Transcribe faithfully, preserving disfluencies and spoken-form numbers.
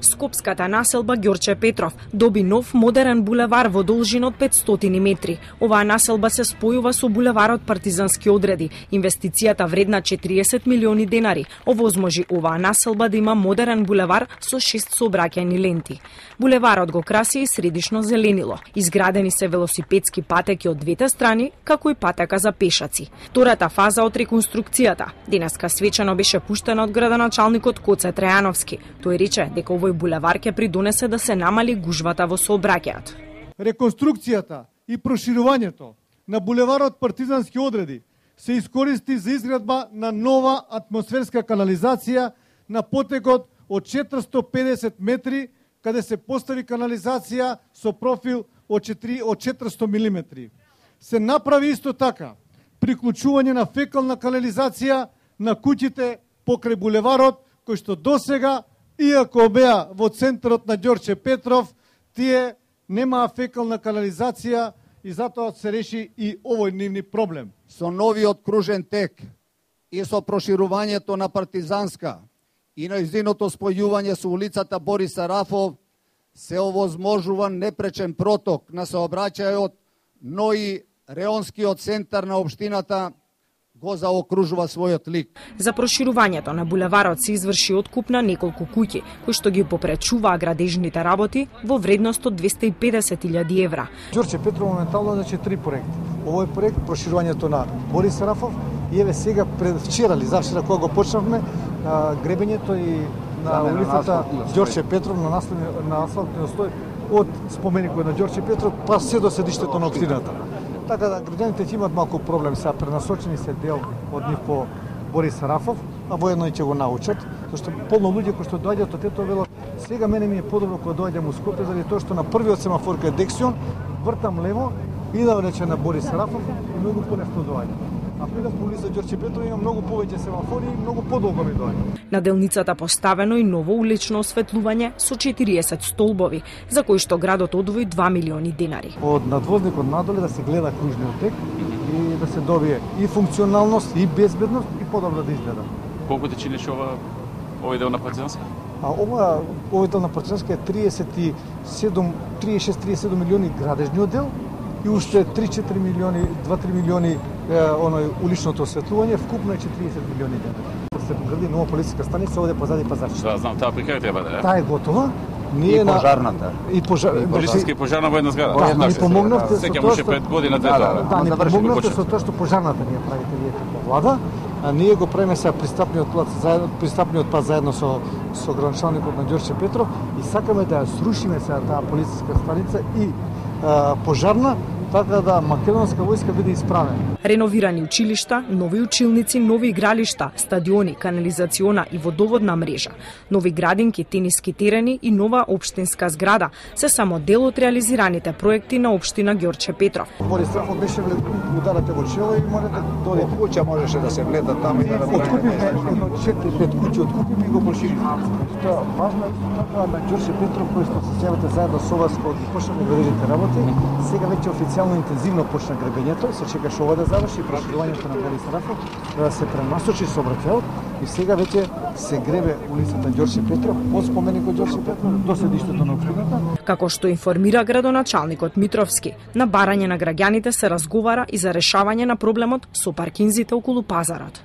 Скопската населба Ѓорче Петров доби нов модерен булевар во должина од петстотини метри. Оваа населба се спојува со булеварот Партизански одреди. Инвестицијата вредна четириесет милиони денари овозможи оваа населба да има модерен булевар со шест сообраќајни ленти. Булеварот го краси и средишно зеленило. Изградени се велосипедски патеки од двете страни, како и патека за пешаци. Втората фаза од реконструкцијата денеска свечено беше пуштена од градоначалникот Коце Трајановски. Тој рече дека овој булевар ќе придонесе да се намали гужвата во сообраќајот. Реконструкцијата и проширувањето на булеварот Партизански одреди се искористи за изградба на нова атмосферска канализација на потекот од четиристо педесет метри, каде се постави канализација со профил од четиристо милиметри. Се направи исто така приклучување на фекална канализација на куќите покрај булеварот, кој што досега, иако беа во центарот на Ѓорче Петров, тие немаа фекална канализација и затоа се реши и овој нивни проблем. Со новиот кружен тек и со проширувањето на Партизанска и нејзиното спојување со улицата Борис Сарафов се овозможува непречен проток на сообраќајот, но и реонскиот центар на општината го заокружува својот лик. За проширувањето на булеварот се изврши откуп на неколку куќи, кои што ги попречуваа градежните работи во вредност од двесте и педесет илјади евра. Ѓорче Петров моментално значи три проекти. Овој проект проширувањето на Борис Сарафов и еве сега пред вчера ли завчера кога го почнавме гребењето и на улицата Ѓорче Петров на наслови на асфалтниот слој од споменикот на Ѓорче Петров па се до седиштето на општината. Така да граѓаните ќе имат малку проблем, сега пренасочени се дел од нив по Борис Сарафов, а воедно и ќе го научат, зашто полно луѓе кои што доаѓаат од тето велат, сега мене ми е подобро кога доаѓам у Скопје заради тоа што на првиот семафор кај Дексион вртам лево, идам рече на Борис Сарафов и многу понешто доаѓа. А придам по улица Ѓорче Петров има многу повеќе семафори и многу подолго ми доаѓа. На делницата поставено и ново улично осветлување со четириесет столбови, за кои што градот одвои два милиони денари. Од надвозникот надоле да се гледа кружниот тек и да се добие и функционалност, и безбедност, и подобро да изгледа. Колку ти чиниш ова овој дел на Партизанска? А ова овој дел на Партизанска е триесет и седум, триесет и шест триесет и седум милиони градежниот дел и уште три-четири милиони, два-три милиони е, оној уличното осветлување, вкупно е четириесет милиони денари. Се гради нова полициска станица овде позади пазарчето. Да, знам, таа прикај треба да е. Таа е готова. Ние и пожарната. И пожар... Полициска и пожарна во една зграда. Да, ни помогнавте со тоа тоа што пред година две тоа. Да, ни помогнавте со тоа што пожарната ни ја правите вие како влада, а ние го правиме сега пристапниот пат заедно пристапниот пат заедно со со градоначалникот на Ѓорче Петров и сакаме да ја срушиме сега таа полициска станица и а, пожарна, така да македонска војска биде исправена. Реновирани училишта, нови училници, нови игралишта, стадиони, канализациона и водоводна мрежа, нови градинки, тениски терени и нова општинска зграда се само дел од реализираните проекти на општина Ѓорче Петров. Борис Сарафов беше ударате во чело и можете дојде куќа можеше да се влета таму и да откупиме едно четири пет куќи, откупиме и го прошириме. Тоа важно е така на Ѓорче Петров кој што се сеќавате заедно со вас кога почнавме градежните работи, сега веќе официјално интензивно почна гребењето, се чекаше ова да заврши проширувањето на Борис Сарафов, да се пренасочи сообраќајот и сега веќе се гребе улицата Ѓорче Петров од споменикот Ѓорче Петров до седиштето на општината. Како што информира градоначалникот Митровски, на барање на граѓаните се разговара и за решавање на проблемот со паркинзите околу пазарот.